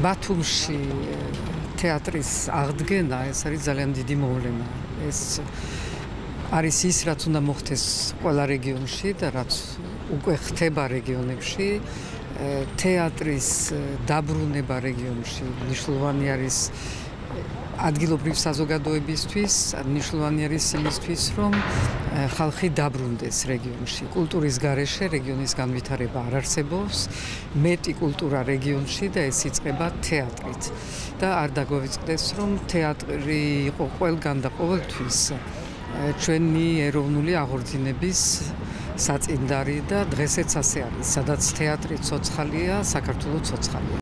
ბათუმში თეატრის აღდგენა ეს არის ძალიან დიდი მოვლენა. ეს არის ის, რაც უნდა მოხდეს ყველა რეგიონში და რაც უკვე ხდება რეგიონებში. თეატრის დაბრუნება რეგიონში მნიშვნელოვანი არის ადგილობრივ საზოგადოებისთვის, მნიშვნელოვანი არის იმისთვის, რომ ხალხი დაბრუნდეს რეგიონში. კულტურის გარეშე რეგიონის განვითარება არ არსებობს, მეტი კულტურა რეგიონში და ეს იწყება თეატრით. და არ დაგვეწყდეს, რომ თეატრი იყო ყველგან და ყოველთვის ჩვენი ეროვნული აღორძინების საწინდარი და დღესაც ასე არის, სადაც თეატრი ცოცხალია, საქართველო ცოცხალია.